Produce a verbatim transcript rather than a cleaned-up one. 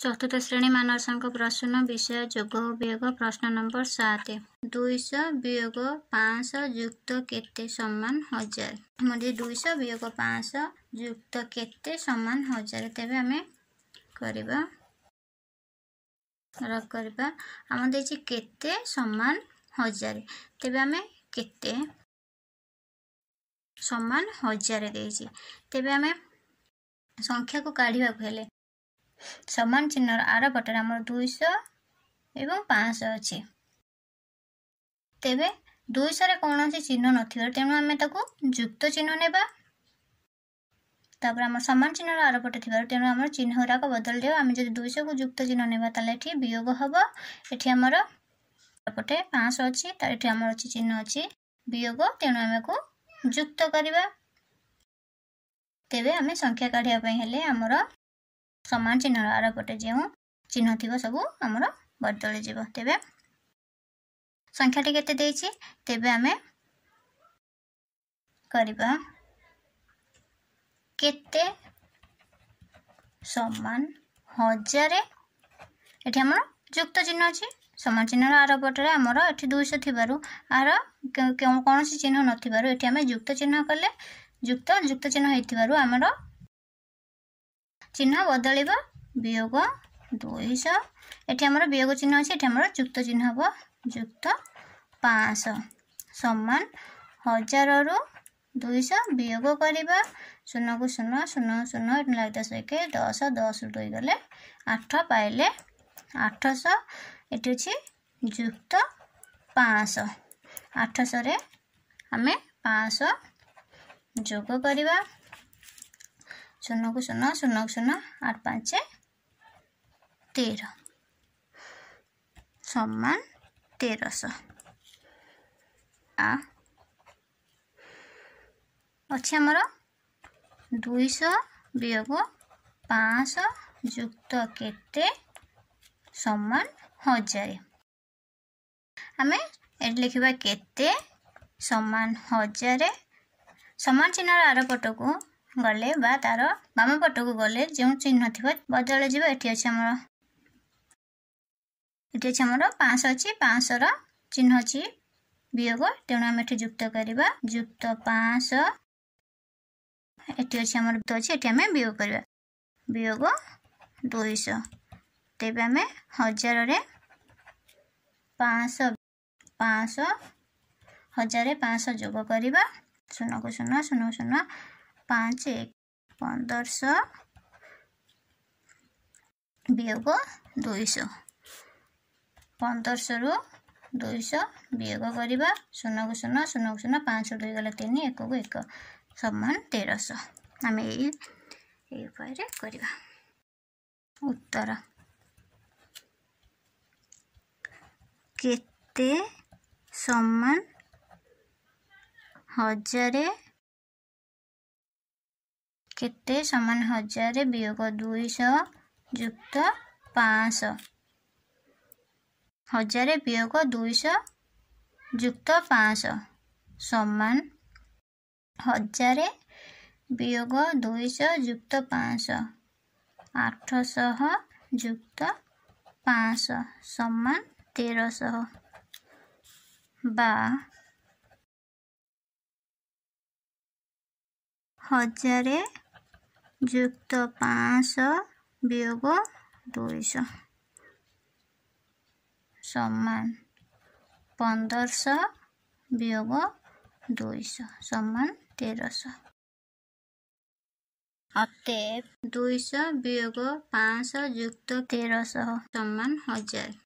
ଚତୁର୍ଥ ଶ୍ରେଣୀ ମାନସାଙ୍କ ପ୍ରଶ୍ନ ବିଷୟ ଯୋଗ ଓ ବିୟୋଗ ପ୍ରଶ୍ନ ନମ୍ବର ସାତ ଦୁଇଶହ ବିୟୋଗ ପାଞ୍ଚଶହ ଯୁକ୍ତ କେତେ ସମାନ ହଜାର ଆମର ଯଦି ଦୁଇଶହ ବିୟୋଗ ପାଞ୍ଚଶହ ଯୁକ୍ତ କେତେ ସମାନ ହଜାର ତେବେ ଆମେ କରିବା ରଫ୍ କରିବା ଆମର ଦେଇଛି କେତେ ସମାନ ହଜାର ତେବେ ଆମେ କେତେ ସମାନ ହଜାରେ ଦେଇଛି ତେବେ ଆମେ ସଂଖ୍ୟାକୁ କାଢ଼ିବାକୁ ହେଲେ ସମାନ ଚିହ୍ନର ଆର ପଟରେ ଆମର ଦୁଇଶହ ଏବଂ ପାଞ୍ଚଶହ ଅଛି ତେବେ ଦୁଇଶହରେ କୌଣସି ଚିହ୍ନ ନଥିବାରୁ ତେଣୁ ଆମେ ତାକୁ ଯୁକ୍ତ ଚିହ୍ନ ନେବା ତାପରେ ଆମର ସମାନ ଚିହ୍ନର ଆର ପଟେ ଥିବାରୁ ତେଣୁ ଆମର ଚିହ୍ନ ଗୁଡ଼ାକ ବଦଳିଯିବ ଆମେ ଯଦି ଦୁଇଶହକୁ ଯୁକ୍ତ ଚିହ୍ନ ନେବା ତାହେଲେ ଏଠି ବିୟୋଗ ହେବ ଏଠି ଆମର ପଟେ ପାଞ୍ଚଶହ ଅଛି ତ ଏଠି ଆମର ଅଛି ଚିହ୍ନ ଅଛି ବିୟୋଗ ତେଣୁ ଆମେ ଆକୁ ଯୁକ୍ତ କରିବା ତେବେ ଆମେ ସଂଖ୍ୟା କାଢ଼ିବା ପାଇଁ ହେଲେ ଆମର ସମାନ ଚିହ୍ନର ଆର ପଟେ ଯେଉଁ ଚିହ୍ନ ଥିବ ସବୁ ଆମର ବଦଳିଯିବ ତେବେ ସଂଖ୍ୟାଟି କେତେ ଦେଇଛି ତେବେ ଆମେ କରିବା କେତେ ସମାନ ହଜାରେ ଏଠି ଆମର ଯୁକ୍ତ ଚିହ୍ନ ଅଛି ସମାନ ଚିହ୍ନର ଆର ପଟରେ ଆମର ଏଠି ଦୁଇଶହ ଥିବାରୁ ଆର କୌଣସି ଚିହ୍ନ ନଥିବାରୁ ଏଠି ଆମେ ଯୁକ୍ତ ଚିହ୍ନ କଲେ ଯୁକ୍ତ ଯୁକ୍ତ ଚିହ୍ନ ହେଇଥିବାରୁ ଆମର ଚିହ୍ନ ବଦଳିବ ବିୟୋଗ ଦୁଇଶହ ଏଠି ଆମର ବିୟୋଗ ଚିହ୍ନ ଅଛି ଏଠି ଆମର ଯୁକ୍ତ ଚିହ୍ନ ହେବ ଯୁକ୍ତ ପାଞ୍ଚଶହ ସମାନ ହଜାରରୁ ଦୁଇଶହ ବିୟୋଗ କରିବା ଶୂନକୁ ଶୂନ ଶୂନ ଶୂନ ଏଠି ଲାଗି ଦଶ ଏକ ଦଶ ଦଶରୁ ଦୁଇ ଗଲେ ଆଠ ପାଇଲେ ଆଠଶହ ଏଠି ଅଛି ଯୁକ୍ତ ପାଞ୍ଚଶହ ଆଠଶହରେ ଆମେ ପାଞ୍ଚଶହ ଯୋଗ କରିବା ଶୂନକୁ ଶୂନ ଶୂନକୁ ଶୂନ ଆଠ ପାଞ୍ଚ ତେର ସମାନ ତେରଶହ ଆ ଅଛି ଆମର ଦୁଇଶହ ବିୟୋଗ ପାଞ୍ଚଶହ ଯୁକ୍ତ କେତେ ସମାନ ହଜାରେ ଆମେ ଏଠି ଲେଖିବା କେତେ ସମାନ ହଜାରେ ସମାନ ଚିହ୍ନର ଆର ପଟକୁ ଗଲେ ବା ତାର ବାମ ପଟକୁ ଗଲେ ଯେଉଁ ଚିହ୍ନ ଥିବ ବଦଳିଯିବ ଏଠି ଅଛି ଆମର ଏଠି ଅଛି ଆମର ପାଞ୍ଚଶହ ଅଛି ପାଞ୍ଚଶହର ଚିହ୍ନ ଅଛି ବିୟୋଗ ତେଣୁ ଆମେ ଏଠି ଯୁକ୍ତ କରିବା ଯୁକ୍ତ ପାଞ୍ଚଶହ ଏଠି ଅଛି ଆମର ଅଛି ଏଠି ଆମେ ବିୟୋଗ କରିବା ବିୟୋଗ ଦୁଇଶହ ତେବେ ଆମେ ହଜାରରେ ପାଞ୍ଚଶହ ପାଞ୍ଚଶହ ହଜାରେ ପାଞ୍ଚଶହ ଯୋଗ କରିବା ଶୂନକୁ ଶୂନ ଶୂନ ଶୂନ ପାଞ୍ଚ ଏକ ପନ୍ଦରଶହ ବିୟୋଗ ଦୁଇଶହ ପନ୍ଦରଶହରୁ ଦୁଇଶହ ବିୟୋଗ କରିବା ଶୂନକୁ ଶୂନ ଶୂନକୁ ଶୂନ ପାଞ୍ଚ ଦୁଇ ଗଲା ତିନି ଏକକୁ ଏକ ସମାନ ତେରଶହ ଆମେ ଏଇ ଏଇ ଉପାୟରେ କରିବା ଉତ୍ତର କେତେ ସମାନ ହଜାରେ କେତେ ସମାନ ହଜାରେ ବିୟୋଗ ଦୁଇଶହ ଯୁକ୍ତ ପାଞ୍ଚଶହ ହଜାରେ ବିୟୋଗ ଦୁଇଶହ ଯୁକ୍ତ ପାଞ୍ଚଶହ ସମାନ ହଜାରେ ବିୟୋଗ ଦୁଇଶହ ଯୁକ୍ତ ପାଞ୍ଚଶହ ଆଠଶହ ଯୁକ୍ତ ପାଞ୍ଚଶହ ସମାନ ତେରଶହ ବା ହଜାରେ ଯୁକ୍ତ ପାଞ୍ଚଶହ ବିୟୋଗ ଦୁଇଶହ ସମାନ ପନ୍ଦରଶହ ବିୟୋଗ ଦୁଇଶହ ସମାନ ତେରଶହ ଅତଏବ ଦୁଇଶହ ବିୟୋଗ ପାଞ୍ଚଶହ ଯୁକ୍ତ ତେରଶହ ସମାନ ହଜାର।